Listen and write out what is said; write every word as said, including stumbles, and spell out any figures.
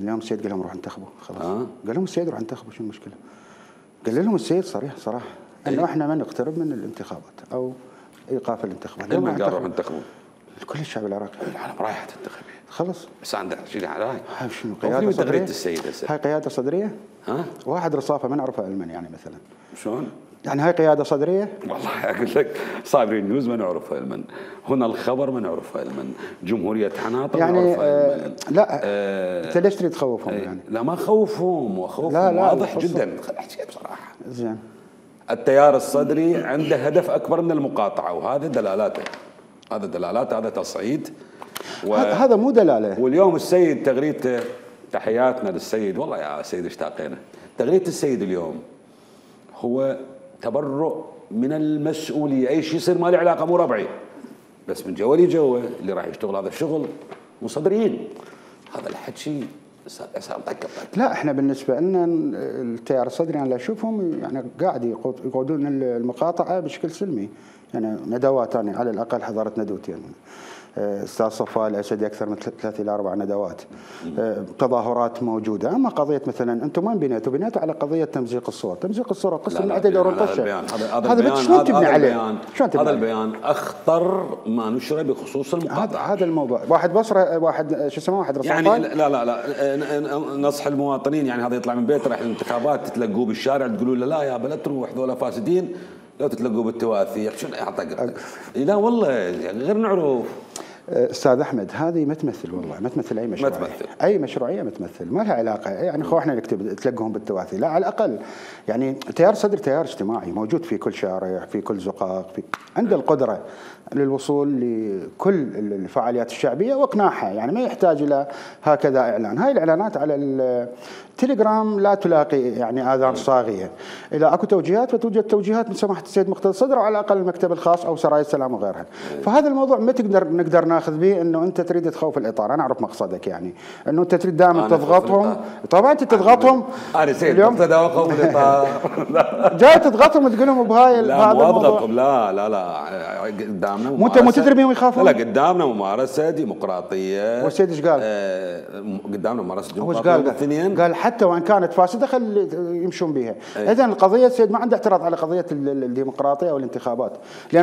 اليوم السيد قال لهم روحوا انتخبوا خلاص. آه. قال لهم السيد روحوا انتخبوا، شو المشكله؟ قال لهم السيد صريح صراحه انه إيه؟ احنا ما نقترب من الانتخابات او ايقاف الانتخابات. من قال روحوا انتخبوا؟ كل الشعب العراقي. العالم رايحه تنتخب خلص. بس عنده شيء راي. هاي شنو قياده صدريه؟ تغريده السيد هسه. هاي قياده صدريه؟ ها؟ واحد رصافه ما نعرفه علما يعني مثلا. شلون؟ يعني هاي قياده صدريه؟ والله اقول لك صابرين نيوز ما نعرفها علما، هنا الخبر ما نعرفها علما، جمهوريه حناطر يعني ما نعرفها علما. لا آه انت ليش تريد تخوفهم يعني؟ لا ما خوفهم وخوف لا لا واضح جدا. خليني احكي بصراحه. زين. التيار الصدري عنده هدف اكبر من المقاطعه، وهذا دلالاته. هذا دلالاته، هذا تصعيد. و... هذا مو دلاله. واليوم السيد تغريدته، تحياتنا للسيد، والله يا سيد اشتاقينا. تغريده السيد اليوم هو تبرؤ من المسؤوليه، اي شيء يصير ما له علاقه، مو ربعي، بس من جوالي جوا اللي راح يشتغل هذا الشغل مو صدريين. هذا الحكي صار طق. لا احنا بالنسبه لنا التيار الصدري انا اشوفهم يعني قاعد يقودون المقاطعه بشكل سلمي، يعني ندوات انا على الاقل حضرت ندوتين. استاذ صفاء الاسدي اكثر من ثلاث الى اربع ندوات. تظاهرات موجوده، اما قضيه مثلا انتم وين بنيتوا؟ بنيتوا على قضيه تمزيق الصور، تمزيق الصور قسم من عدد دور الطشه. هذا البيان شلون تبني عليه؟ شلون تبني هذا البيان اخطر ما نشر بخصوص المقاطعه. هذا الموضوع، واحد بصره، واحد شو اسمه، واحد رصافان يعني لا لا لا نصح المواطنين، يعني هذا يطلع من بيته رايح الانتخابات تتلقوه بالشارع تقولوا له لا يا بلا تروح ذولا فاسدين، لو تتلقوا بالتواثي شنو يعطق. لا والله غير نعرف. استاذ احمد هذه ما تمثل، والله ما تمثل اي مشروعيه. ما تمثل. اي مشروعيه ما تمثل، ما لها علاقه. يعني خو احنا نكتب تلقهم بالتواثي، لا على الاقل يعني تيار صدر تيار اجتماعي موجود في كل شارع، في كل زقاق، في عنده القدره للوصول لكل الفعاليات الشعبيه واقناعها، يعني ما يحتاج الى هكذا اعلان. هاي الاعلانات على التليجرام لا تلاقي يعني اذان صاغيه. اذا اكو توجيهات فتوجد توجيهات من سماحه السيد مقتدى الصدر، وعلى الاقل المكتب الخاص او سرايا السلام وغيرها. فهذا الموضوع ما تقدر نقدر ناخذ به انه انت تريد تخوف الاطار. انا اعرف مقصدك، يعني انه انت تريد دائما تضغطهم. طبعا انت تضغطهم. انا سيد مقتدى وخوف الاطار. جاي تضغطهم وتقول لهم بهاي لا مو اضغطهم، لا لا لا قدامنا مو انت مو تدري بهم يخافون. لا قدامنا ممارسه ديمقراطيه. والسيد ايش قال؟ آه قدامنا ممارسه ديمقراطيه. هو ايش قال؟ قال حتى وان كانت فاسده خلي يمشون بها. اذا القضيه السيد ما عنده اعتراض على قضيه الديمقراطيه او الانتخابات، لان